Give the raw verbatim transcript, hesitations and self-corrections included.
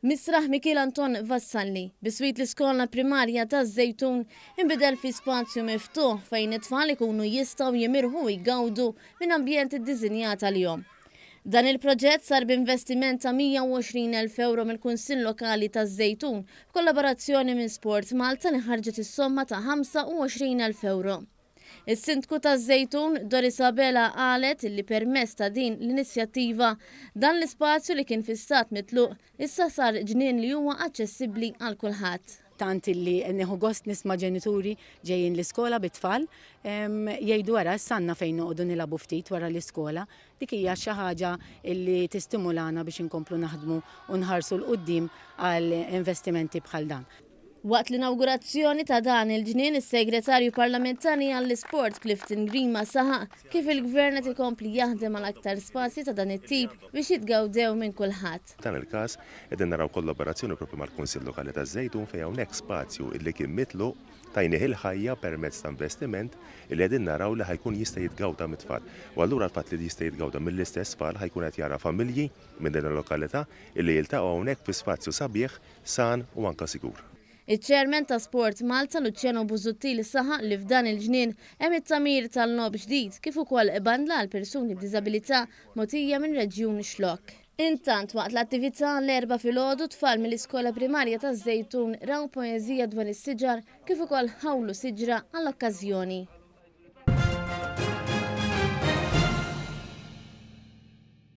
Misraħ Mikiel Anton Vassalli, biswit l-iskola primarja taż-Żejtun, inbidel fi spazju miftuħ fejn it-tfal ikunu jistgħu jimirħu u jgawdu minn ambjent iddisinjat għalihom. Dan il-proġett sar b'investiment ta' mija u għoxrin elf euro mill-Kunsill Lokali taż-Żejtun b'kollaborazzjoni minn Sport Malta li ħarġet is-somma ta' ħamsa u għoxrin elf euro. Is-Sindku taż-Żejtun Doris Abela qalet li permezz ta' din l-inizjattiva dan l-ispazju li kien fi stat mitluq issa sar ġnien li huwa aċċessibbli għal kulħadd. Tant illi nieħu gost nisma' ġenituri ġejjin l-iskola bit-tfal jgħidu, "Wara s-sanna fejn noqogħdu nilagħbu ftit wara l-iskola." Dik hija xi ħaġa illi tistimulana biex inkomplu naħdmu u nħarsu 'l quddiem għal investimenti bħal dan. Waqt l-inaugurazzjoni ta' dan il-ġnien, is-Segretarju Parlamentari għall-Isport Clifton Grima saħaq kif il-Gvern qed ikompli jaħdem għal aktar spazji ta' dan it-tip biex jitgawdew minn kulħadd. Dan il-każ qegħdin naraw kollaborazzjoni propju mal-Kunsill Lokali taż-Żejtun fejn hawnhekk spazju illi kien mitluq tajnieh il-ħajja permezz ta' investiment illi qegħdin naraw li ħa jkun jista' jitgawda mit-tfal. U allura l-fatt li jista' jitgawda mill-istess tfal, ħa jkun qed jara familji minn din il-lokalità illi jiltaqgħu hawnhekk fi spazju sabiħ, san u anka sigur. Iċ-Chairman ta' Sport Malta Luciano Busuttil saħaq li f'dan il-ġnien hemm it-tagħmir tal-logħob ġdid kif ukoll bandla għal persuni b'diżabilità mogħtija minn Reġjun Xlokk. Intant, waqt l-attività l-Erbgħa filgħodu, tfal mill-iskola primarja taż-Żejtun raw poeżija dwar is-siġar kif ukoll ħawlu siġra għall-okkażjoni.